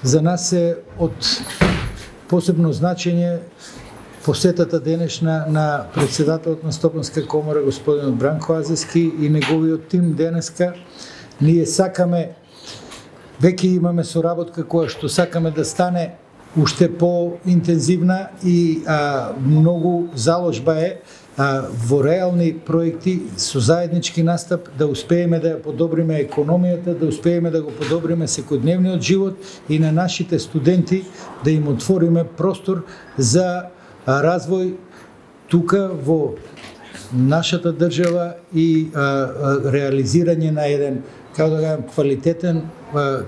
За нас е од посебно значење посетата денешна на председателот на Стопанска комора господинот Бранко Азески и неговиот тим денеска. Ние сакаме, веќе имаме соработка која што сакаме да стане уште по-интензивна и многу заложба е во реални проекти со заеднички настап да успееме да ја подобриме економијата, да успееме да го подобриме секојдневниот живот и на нашите студенти да им отвориме простор за развој тука во нашата држава и реализирање на еден, како да кажам,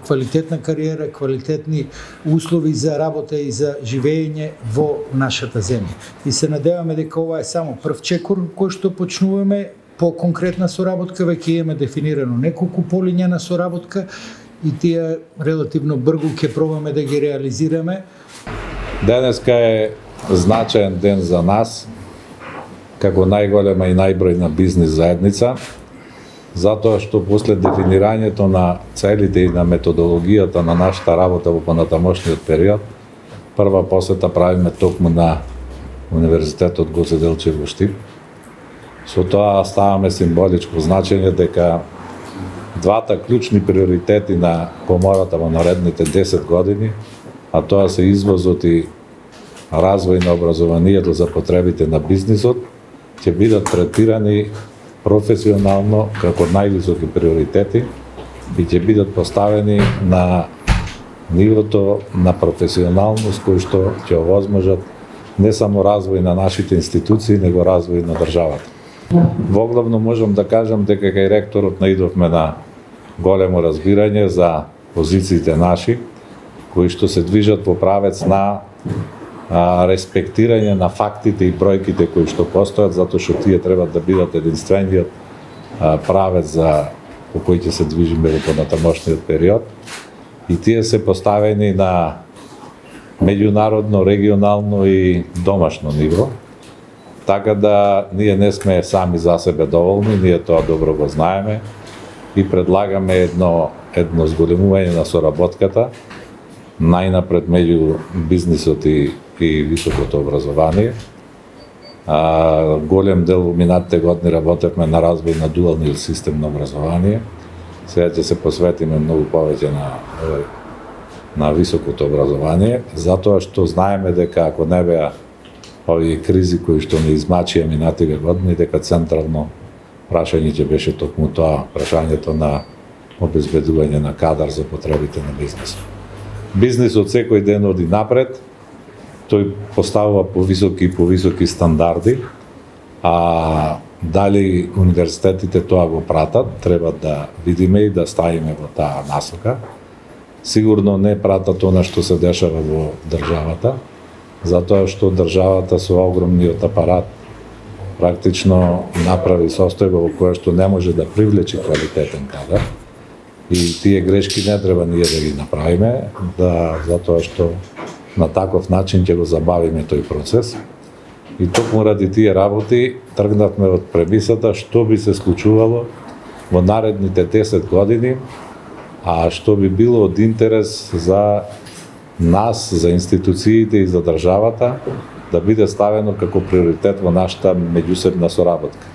квалитетна кариера, квалитетни услови за работа и за живење во нашата земја. И се надеваме дека ова е само прв чекор кој што почнуваме по конкретна соработка, веќе имаме дефинирано неколку полиња на соработка и тие релативно брзо ќе пробаме да ги реализираме. Денеска е значаен ден за нас, како најголема и најбројна бизнис заедница, затоа што после дефинирањето на целите и на методологијата на нашата работа во понатамошниот период, прва посета правиме токму на Универзитетот Гоце Делчев во Штип. Со тоа ставаме символичко значење дека двата клучни приоритети на комората во наредните 10 години, а тоа се извозот и развој на образованието за потребите на бизнисот, ќе бидат третирани професионално како највисоки приоритети и ќе бидат поставени на нивото на професионалност кој што ќе овозможат не само развој на нашите институции, него развој на државата. Воглавно можам да кажам дека кај ректорот наидовме на големо разбирање за позициите наши, кои што се движат во правец на респектирање на фактите и бројките кои што постојат, затоа што тие треба да бидат единствениот правец по кој ќе се движиме во понатамошниот период. И тие се поставени на меѓународно, регионално и домашно ниво. Така да ние не сме сами за себе доволни, ние тоа добро го знаеме и предлагаме едно зголемување на соработката, најнапред меѓу бизнисот и високото образование. Голем дел во минатите години работевме на развој на дуалниот систем на образование. Сега ќе се посветиме многу повеќе на високото образование, затоа што знаеме дека ако не беа овие кризи кои што не измачија минативе години, дека централно прашање ќе беше токму тоа, прашањето на обезбедување на кадар за потребите на бизнисот. Бизнисот секој ден оди напред, тој поставува повисоки стандарди, а дали универзитетите тоа го пратат, треба да видиме и да ставиме во таа насока. Сигурно не пратат она што се дешава во државата, затоа што државата со огромниот апарат практично направи состојба во која што не може да привлече квалитетен кадар. И тие грешки не треба ние да ги направиме, затоа што на таков начин ќе го забавиме тој процес. И токму ради тие работи тргнавме од премисата што би се случувало во наредните 10 години, а што би било од интерес за нас, за институциите и за државата, да биде ставено како приоритет во нашата меѓусебна соработка.